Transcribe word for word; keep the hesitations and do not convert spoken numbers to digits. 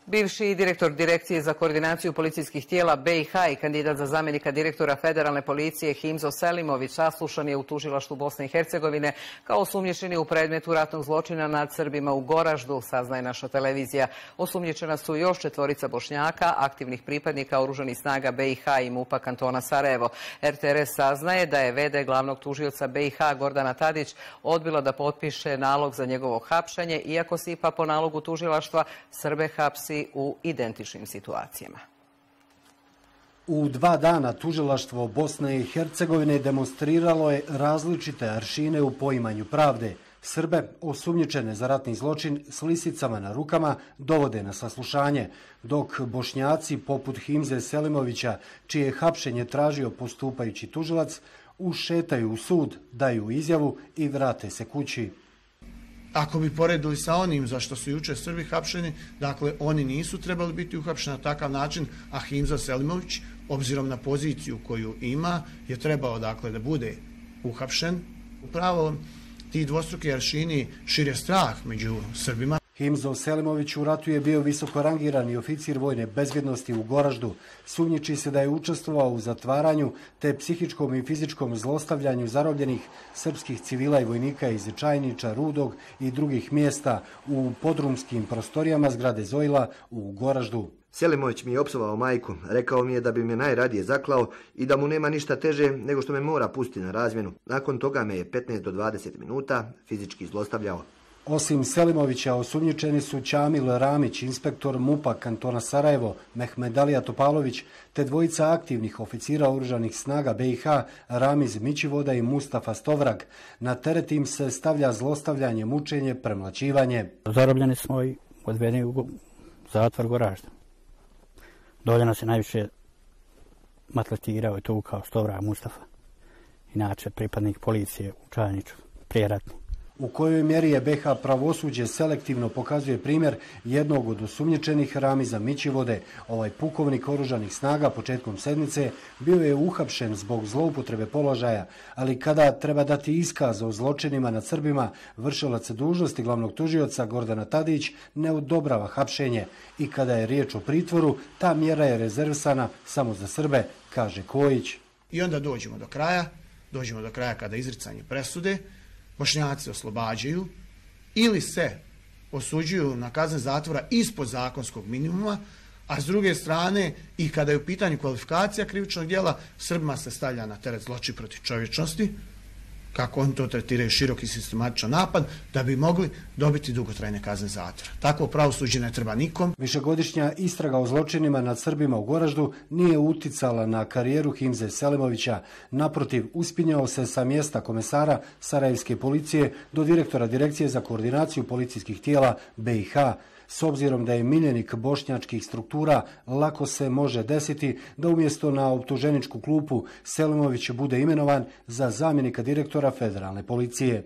Bivši direktor Direkcije za koordinaciju policijskih tijela B i H i kandidat za zamjenika direktora Federalne policije Himzo Selimović saslušan je u tužilaštvu Bosne i Hercegovine kao osumnjičeni u predmetu ratnog zločina nad Srbima u Goraždu, saznaje naša televizija. Osumnjičena su još četvorica Bošnjaka, aktivnih pripadnika oružanih snaga B i H i MUP-a kantona Sarajevo. R T R S saznaje da je v d glavnog tužioca B i H Gordana Tadić odbila da potpiše nalog za njegovo hapšenje, iako se ipak po nalogu tužilaštva Srbe hapsi u identičnim situacijama. U dva dana tužilaštvo Bosne i Hercegovine demonstriralo je različite aršine u poimanju pravde. Srbe, osumnjičene za ratni zločin s lisicama na rukama, dovode na saslušanje, dok Bošnjaci poput Himze Selimovića, čije je hapšenje tražio postupajući tužilac, ušetaju u sud, daju izjavu i vrate se kući. Ako bi poredili sa onim za što su jučer Srbi hapšeni, dakle oni nisu trebali biti uhapšeni na takav način, a Himzo Selimović, obzirom na poziciju koju ima, je trebao dakle da bude uhapšen. Upravo ti dvostruki aršini šire strah među Srbima. Himzo Selimović u ratu je bio visoko rangirani oficir vojne bezbjednosti u Goraždu. Sumnjiči se da je učestvovao u zatvaranju te psihičkom i fizičkom zlostavljanju zarobljenih srpskih civila i vojnika iz Čajniča, Rudog i drugih mjesta u podrumskim prostorijama zgrade Zojla u Goraždu. Selimović mi je opsovao majku, rekao mi je da bi me najradije zaklao i da mu nema ništa teže nego što me mora pustiti na razmjenu. Nakon toga me je petnaest do dvadeset minuta fizički zlostavljao. Osim Selimovića, osumnjičeni su Ćamil Ramić, inspektor MUP-a kantona Sarajevo, Mehmedalija Topalović, te dvojica aktivnih oficira oružanih snaga B i H, Ramiz Mićivoda i Mustafa Stovrag. Na teret im se stavlja zlostavljanje, mučenje, premlaćivanje. Zarobljeni smo i odvedeni u zatvor Goražda. Dolje nas je najviše maltretirao i tukao Stovrag Mustafa, inače pripadnik policije u Čajniču, prijeratni. U kojoj mjeri je B i H pravosuđe selektivno pokazuje primjer jednog od osumnjičenih, Ramiza Mićivode. Ovaj pukovnik oružanih snaga početkom sedmice bio je uhapšen zbog zloupotrebe položaja, ali kada treba dati iskaz o zločinima nad Srbima, vršilac dužnosti glavnog tužioca Gordana Tadić ne odobrava hapšenje i kada je riječ o pritvoru, ta mjera je rezervisana samo za Srbe, kaže Kojić. I onda dođemo do kraja, dođemo do kraja kada izricanje presude, Bošnjaci oslobađaju ili se osuđuju na kazne zatvora ispod zakonskog minimuma, a s druge strane i kada je u pitanju kvalifikacija krivičnog djela, Srbima se stavlja na teret zločin protiv čovječnosti, kako oni to tretiraju, široki sistematičan napad, da bi mogli dobiti dugotrajne kazne zatvora. Takvo pravosuđe ne treba nikom. Višegodišnja istraga o zločinima nad Srbima u Goraždu nije uticala na karijeru Himze Selimovića. Naprotiv, uspinjao se sa mjesta komesara Sarajevske policije do direktora Direkcije za koordinaciju policijskih tijela B i H. S obzirom da je miljenik bošnjačkih struktura, lako se može desiti da umjesto na optuženičku klupu Selimović bude imenovan za zamjenika direktora Federalne policije.